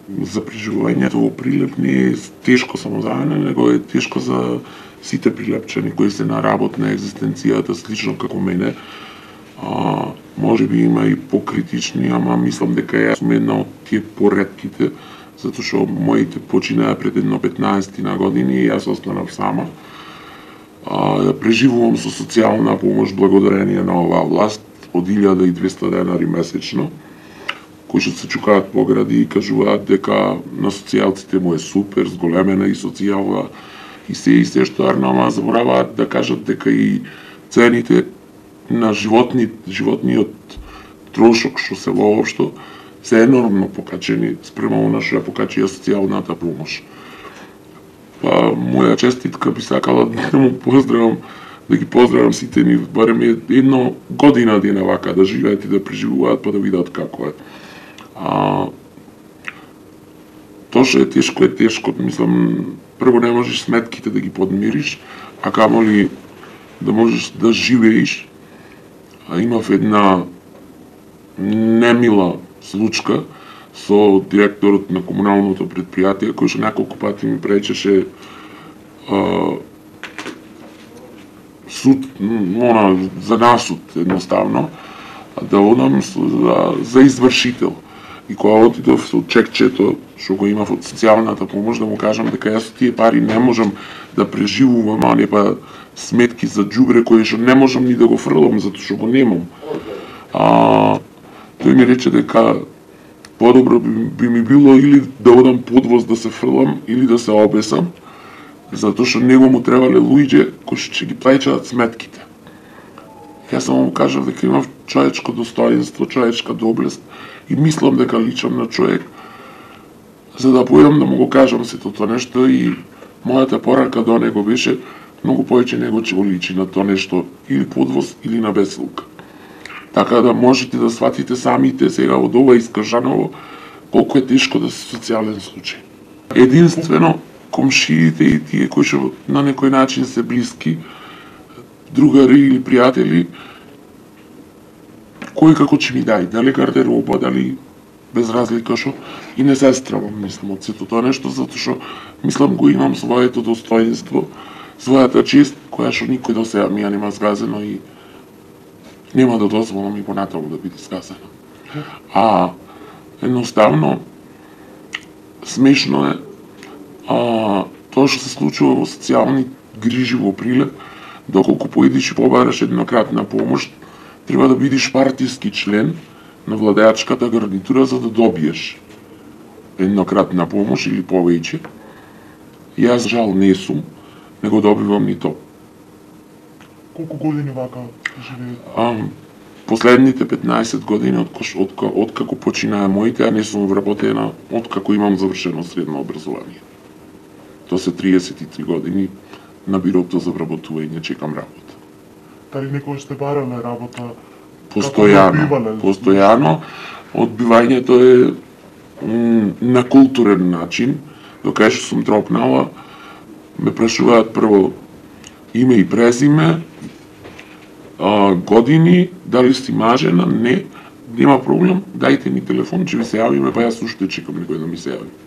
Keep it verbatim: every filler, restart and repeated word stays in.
за преживувањето во Прилеп не е тешко само за мене, него е тешко за сите прилепчани кои се на работна екзистенцијата слично како мене. А, може би има и покритични, ама мислам дека јас сум една од тие поретките, затоа што моите починаа пред едно петнаесет на години и јас останав сама. А, да преживувам со социјална помош благодарение на оваа власт од илјада и двесте денари месечно, кои што се чукаат по гради и кажуваат дека на социјалците му е супер, зголемена и социјална и се и се што арнама забораваат да кажат дека и цените на животни, животниот трошок што се воопшто се енормно покачени спрема она што ја покачија социјалната помош. Па, моја честитка би сакала да му поздравам, да ги поздравам сите ни, барем едно година дена вака да живеат и да преживуваат, па да видат како е. А, тоа што е тешко е тешко, мислам, прво не можеш сметките да ги подмириш, а камоли да можеш да живееш. А имав една немила случка со директорот на комуналното предпријатие, кој што неколку пати ми пречеше а, суд, она, за насуд едноставно, да одам за, за извршител. И кога отидов со чекчето, што го имав од социјалната помош, да му кажам дека јас тие пари не можам да преживувам, а не па сметки за џубре кои што не можам ни да го фрлам, затоа што го немам. А, тој ми рече дека подобро би, би ми било или да одам подвоз да се фрлам, или да се обесам, затоа што него му требале луѓе кои што ќе ги плаќаат сметките. Јас само му кажав дека имав човечко достоинство, човечка доблест и мислам дека личам на човек, за да појдам да му го кажам сето тоа нешто и мојата порака до него беше многу повеќе него ќе го личи на тоа нешто или подвоз или на бесилка. Така да можете да сватите самите сега од ова искажаново колку е тешко да се социјален случај. Единствено комшиите и тие кои што на некој начин се блиски, другари или пријатели, кој како ќе ми дај, дали гардероба, дали без разлика што, и не се стравам, мислам, од сето тоа нешто, затоа што, мислам, го имам своето достоинство, својата чест, која што никој до сега ми ја нема згазено и нема да дозволам и понатаму да биде згазено. А, едноставно, смешно е, а, тоа што се случува во социјални грижи во Прилеп, доколку поидиш и побараш еднократна помош, треба да бидеш партиски член на владеачката гарнитура за да добиеш еднократна помош или повеќе. Јас жал не сум, не го добивам ни то. Колку години вака живеете? А, последните петнаесет години од, од, од како починаа моите, а не сум вработена од како имам завршено средно образование. Тоа се триесет и три години на бирото за вработување чекам работа. Дали некој сте барале работа? Постојано, постојано. Одбивањето е на културен начин, докај што сум тропнала, ме прашуваат прво име и презиме, а, години, дали си мажена, не, нема проблем, дајте ни телефон, ќе ви се јавиме, па јас уште чекам некој да ми се јави.